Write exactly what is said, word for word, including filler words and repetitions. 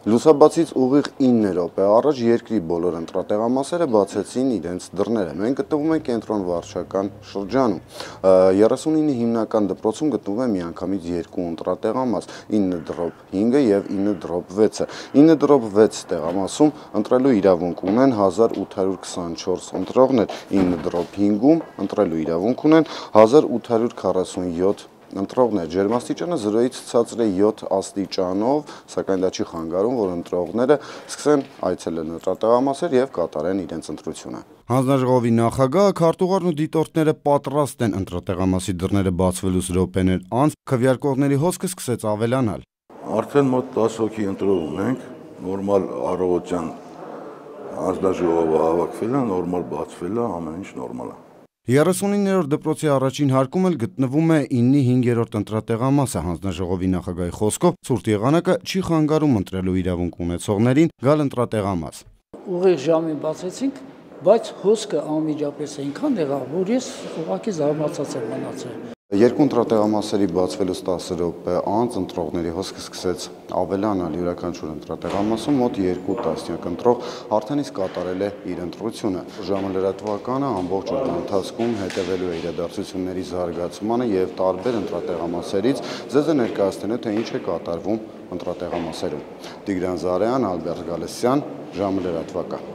Լուսաբացից ուղիղ ինը րոպե առաջ երկրի բոլոր ընտրատեղամասերը բացեցին իրենց դռները։ Մենք գտնվում ենք կենտրոն վարչական շրջանում։ երեսունինը հիմնական դպրոցում գտնվում է միանգամից երկու ընտրատեղամաս՝ ինը դրոպ հինգը եւ ինը դրոպ վեցը։ ինը դրոպ վեց տեղամասում ընտրելու իրավունք ունեն հազար ութ հարյուր քսանչորս ընտրողներ, ինը դրոպ հինգում ընտրելու իրավունք ունեն հազար ութ հարյուր քառասունյոթ ընտրողներ։ Ջերմաստիճանը զրոյից ցածր է յոթ աստիճանով, սակայն դա չի խանգարում, որ ընտրողները սկսեն այցելել ընտրատեղամասեր եւ կատարեն իրենց ընտրությունը։ Հանձնաժողովի նախագահը, քարտուղարն ու դիտորդները պատրաստ են ընտրատեղամասի դռները բացվելուց րոպեներ անց քվեարկողների հոսքը սկսեց ավելանալ։ Արդեն մոտ տասը հոգի ընտրող ունենք, նորմալ առավոտյան հանձնաժողովը հավաքվել է, նորմալ բացվել է, ամեն ինչ նորմալ է։ երեսունիններորդ դպրոցի առաջին հարկում էլ գտնվում է ինի հինգերորդ ընտրատեղամասը։ Հանձնաժողովի նախագահի խոսքով ցուրտ եղանակը չի խանգարում ընտրելու իրավունք ունեցողներին գալ ընտրատեղամաս։ Ուղիղ ժամին բացեցինք, բայց հոսքը անմիջապես այնքան եղավ, որ ես ուղղակի զարմացած եմ մնացել։ Երկու ընտրատեղամասերի բացվելուց տասը րոպե անց ընտրողների հոսքը սկսեց ավելանալ։ Յուրաքանչյուր ընտրատեղամասում մոտ երկու տասնյակ ընտրող արդեն իսկ կատարել է իր ընտրությունը։ Ժամը լրատվականը ամբողջ օրվա ընթացքում հետևելու է իրադարձությունների զարգացմանը եւ տարբեր ընտրատեղամասերից ձեզ է ներկայացնելու, թե ինչ է կատարվում ընտրատեղամասերում։ Տիգրան Զարեյան, Ալբերտ Գալստյան, ժամը լրատվական։